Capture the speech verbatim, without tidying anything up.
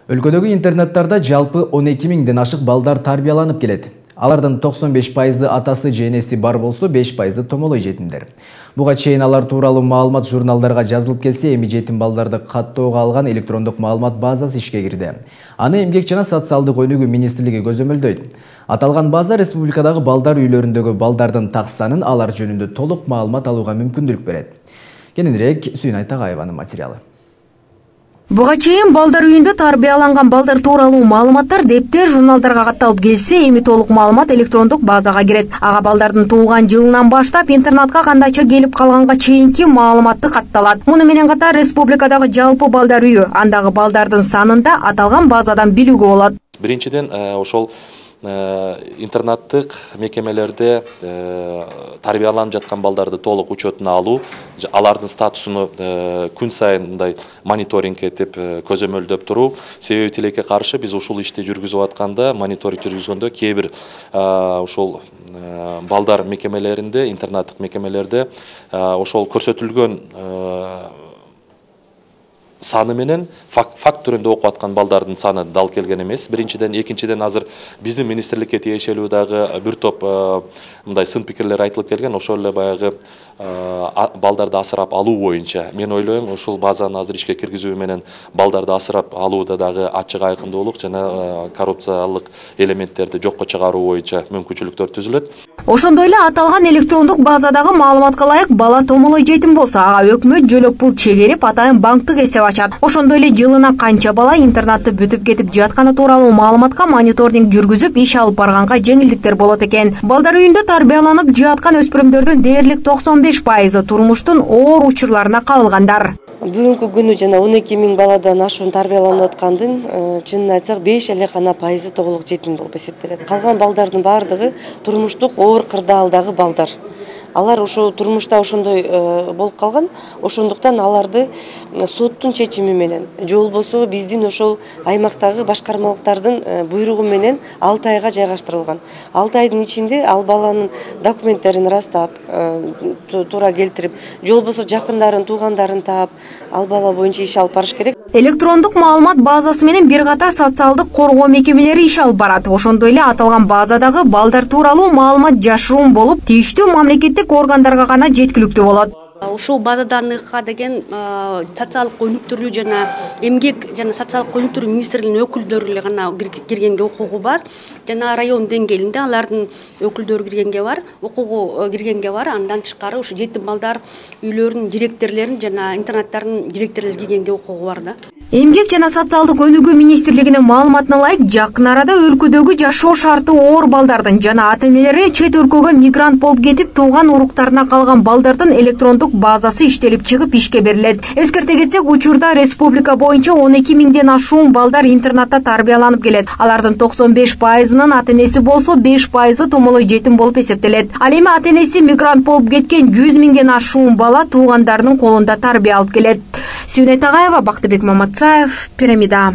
Өлкөдөгү интернаттарда жалпы он эки миңден ашык балдар тарбияланып келет. Алардын токсон беш пайызы атасы же энеси бар болсо, беш пайызы томолой жетимдер. Буга чейин алар тууралуу маалымат журналдарга жазылып келсе, эми жетим балдарды каттоого алган электрондук маалымат базасы ишке кирди. Аны Эмгек жана социалдык өнүгүү министрлиги көзөмөлдөйт. Аталган база республикадагы балдар үйлөрүндөгү балдардын так санын, алар жөнүндө толук маалымат алууга мүмкүндүк берет. Кененирээк Сүйнай Тагайеванын материалы. Буга чейин балдар үйүндө тарбияланган балдар тууралуу маалыматтар дептер, журналдарга катталып келсе, эми толук маалымат электрондук базага кирет. Ага балдардын туулган жылынан баштап интернатка кандайча келип калганга чейинки маалыматты катталат. Муну менен катар республикадагы жалпы балдар үйү, андагы балдардын санын да аталган базадан билүүгө болот. Биринчиден, ошол интернаттык мекемелерде тарбияланып жаткан балдарды толук учетуна алуу, алардын статусуну күн сайын мындай мониторинг этип көзөмөлдөп туруу. Себеби тилекке каршы биз ушул ишти жүргүзүп атканда, мониторинг жүргүзгөндө кээ бир ошол балдар мекемелеринде, интернаттык мекемелерде ошол көрсөтүлгөн саны менен факт түрүндө окуп аткан балдардын саны дал келген эмес. Биринчиден, экинчиден азыр биздин министрликке тиешелүү дагы бир топ мындай сын пикирлер айтылып келген. Ошол эле баягы балдарды асырап алуу боюнча мен ойлойм, ушул базаны азыр ишке киргизүү менен балдарды асырап алууда дагы ачык айкындуулук жана коррупциялык элементтерди жокко чыгаруу боюнча мүмкүнчүлүктөр түзүлөт. Ошондой эле аталган электрондук базадагы маалыматка ылайык бала томолой жетим болсо, ага өкмөт жөлөк пул чегерип, атайын банктык эсеп ачат. Ошондой эле жылына канча бала интернатты бүтүп кетип жатканы тууралуу маалыматка мониторинг жүргүзүп, иш алып барганга жеңилдиктер болот экен. Балдар үйүндө тарбияланып жаткан өспүрүмдөрдүн дээрлик токсон беш пайызы турмуштун оор учурларына кабылгандар. Бүгүнкү күнү жана он эки миң баладан ашуун тарбияланып аткандын чынын айтсак беш эле гана пайызы толук жетим болуп эсептелет. Калган балдардын баардыгы турмуштук оор кырдаалдагы балдар. Алар ошо турмушта ошондой болуп калган, ошондуктан аларды соттун чечими менен же болбосо биздин ошол аймактагы башкармалыктардын буйругу менен алты айга жайгаштырылган. алты айдын ичинде ал баланын документтерин ырастап, туура келтирип, же болбосо жакындарын, туугандарын таап, ал бала боюнча иш алып барыш керек. Электрондук маалымат базасы менен бир катар социалдык коргоо мекемелери иш алып барат. Ошондой эле аталган базадагы балдар тууралуу маалымат жашыруун болуп, тийиштүү мамлекеттик органдарга гана жеткиликтүү болот. Ушул базаданыкка деген социалдык өнүктүрүү жана эмгек жана социалдык өнүктүрүү министрлигинин өкүлдөрү эле гана киргенге укугу бар. Жана район деңгээлинде алардын өкүлдөрү киргенге бар, укугу киргенге бар. Андан тышкары ушу жетим балдар үйлөрүнүн директорлорун жана интернаттардын директорлору киргенге укугу бар да. Эмгек жана социалдык өнүгүү министрлигинин маалыматына ылайык, жакын арада өлкөдөгү жашоо шарты оор балдардын жана ата-энелери чет өлкөгө мигрант болуп кетип, тууган уруктарына калган балдардын электрондук базасы иштелип чыгып ишке берилет. Эскерте кетсек, учурда республика боюнча он эки миңден ашуун балдар интернатта тарбияланып келет. Алардын токсон беш пайызынын ата-энеси болсо, беш пайызы томолой жетим болуп эсептелет. Ал эми ата-энеси мигрант болуп кеткен жүз миңден ашуун бала туугандарынын колунда тарбия алып келет. Сүйнай Тагаева, Бактыбек Маматсаев, Пирамида.